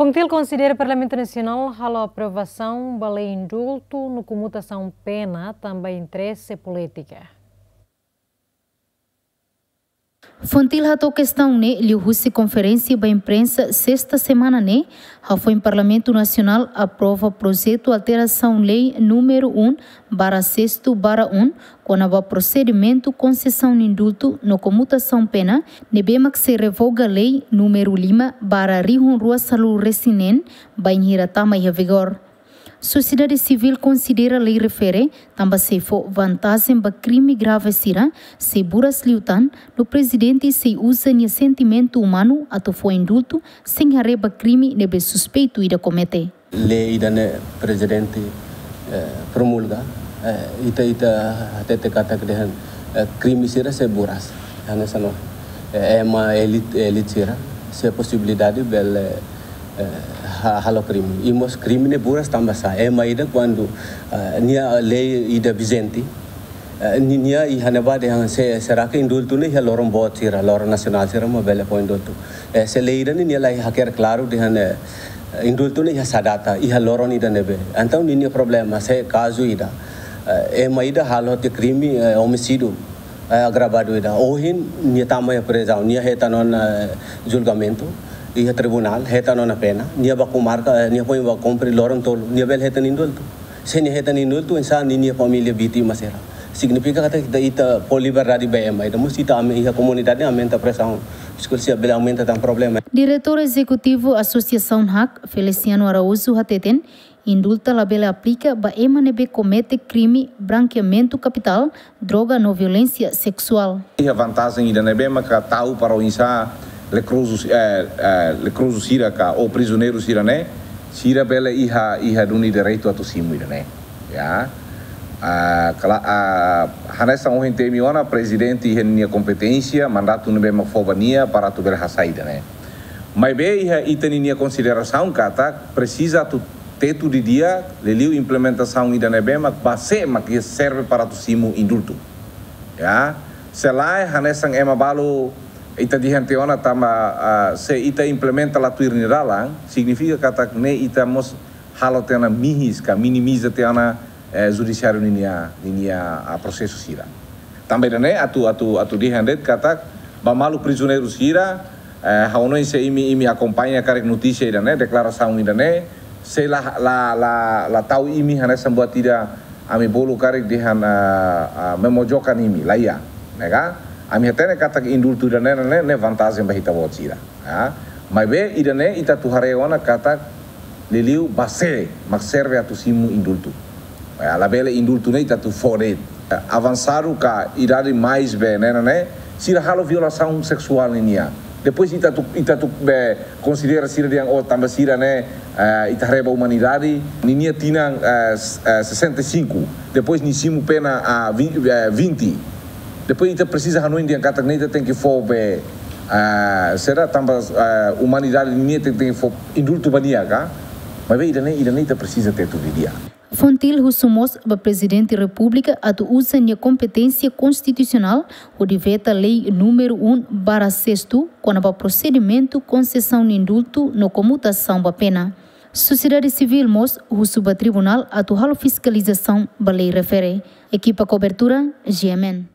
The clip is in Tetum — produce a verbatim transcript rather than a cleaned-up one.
FONGIPL konsidera Parlamentu Nasionál halo aprovasaun ba lei indultu no komutasaun pena tanba interese polítika. FONGIPL hato'o kestaun ne'e liuhusi konferénsia ba imprensa sesta semana ne'e, hafoin Parlamentu Nasionál aprova projetu alterasaun lei númeru um barra sestu barra um, kona-ba prosedimentu konsesaun indultu no komutasaun pena, ne'ebé mak sei revoga lei númeru lima barra rihun rua sanulu resin neen, bainhira tama iha vigór. Sosiedade sivíl konsidera lei refere tanba sei fó vantajen ba krime grave sira, sei buras liután, no prezidente sei uza nia sentimentu umanu atu fó indultu sein haree ba krime ne'ebé suspeitu ida komete. Lei ida-ne'e prezidente, eh, promulga, eh, ita, ita hatete katak dehan, eh, krime sira sei buras. Hanesan, eh, ema elite, elite sira sei posibilidade bele, eh, ha-, halo krime. I mós krime ne'e buras tanba sá? Ema ida kuandu, eh, nia lei ida vijente, eh, ni-, nia iha ne'ebá dehan se, será que indultu ne'e iha loron boot sira, loron nasionál sira mak bele fó indultu. Eh, se lei ida-ne'e nia la hakerek klaru dehan, eh, indultu ne'e iha sá data, iha loron ida ne'ebé. Entaun ninia problema, se kazu ida, eh, ema ida halo tiha krime, eh, omisídiu, eh, agravadu ida. Ohin nia tama iha prizaun, nia hetan ona, eh, julgamentu iha tribunál, hetan ona pena, nia bá komarka, eh, nia foin bá kumpre loron tolu, nia bele hetan indultu. Se nia hetan indultu, oinsá ninia família vítima sira? Signifika katak ita, ita fó liberdade ba ema ida, mós ita ame-, iha komunidade aumenta presaun, psikologia bele aumenta tan problema. Diretór Ezekutivu Asosiasaun HAK, Feliciano Araújo hateten, indultu labele aplika ba ema ne'ebé komete krime brankeamentu kapitál, droga no violénsia seksuál. Iha vantajen ida ne'ebé maka tau para oinsá lekrozu, eh, eh, lekrozu sira ka ou prizioneiru sira ne'e, sira bele iha, iha duni direitu atu simu ida-ne'e. Ya. Ah, kala-, ah, hanesan ohin temi ona, prezidente iha ninia kompeténsia, mandatu ne'ebé mak fó ba nia para atu bele hasai ida-ne'e. Maibé iha ita ninia konsiderasaun katak presiza atu tetu didi'ak, liuliu implementasaun ida ne'ebé mak ba sé mak iha serve para atu simu indultu. Ya, se lae hanesan ema balu ita dehan tiha ona tanba, ah, se ita implementa la tuir nia dalan, signifika katak ne'e ita mós halo tiha ona mihis ka minimiza tiha ona, eh, judisiáriu ninia, ninia, ah, prosesu sira. Tanba ida-ne'e atu, atu, atu dehan de'it katak ba maluk prizioneiru sira, eh, ha'u hanoin se imi, imi akompaña karik notísia ida-ne'e, deklarasaun ida-ne'e, se la, la, la, la tau imi hanesan buat ida ami bolu karik dehan, ah, ah, memojokan imi, laiha, ne'e ka? Ami hatene katak indultu ida-ne'e, ne'e, ne'e vantajen ba ita-boot sira. Ah, maibé ida-ne'e ita atu haree ona katak liuliu ba sé mak serve atu simu indultu. Eh, labele indultu ne'e ita atu fó de'it. Eh, avansadu ka idade mais be ne'e, ne'e, sira halo violasaun seksuál ninia. Depois ita atu, ita atu be konsidera sira dehan, oh, tanba sira ne'e, eh, ita haree ba umanidade, ninia tinan, eh, s-, eh, sessenta e cinco. Depois nia simu pena, ah, vi-, eh, vinte. Depois ita presiza hanoin dehan katak ne'e ita tenke fó be, ah, será tanba, ah, umanidade ninia tenke, tenke fó indultu ba nia ka? Maibé ida-ne'e, ida-ne'e ita presiza tetu didi'ak. FONGIPL husu mós ba Prezidente Repúblika atu uza nia kompeténsia konstitusionál hodi veta lei númeru um barra sestu kona-ba prosedimentu konsesaun indultu no komutasaun ba pena. Sosiedade sivíl mós husu ba tribunál atu halo fiskalizasaun ba lei refere. Ekipa kobertura, G M N.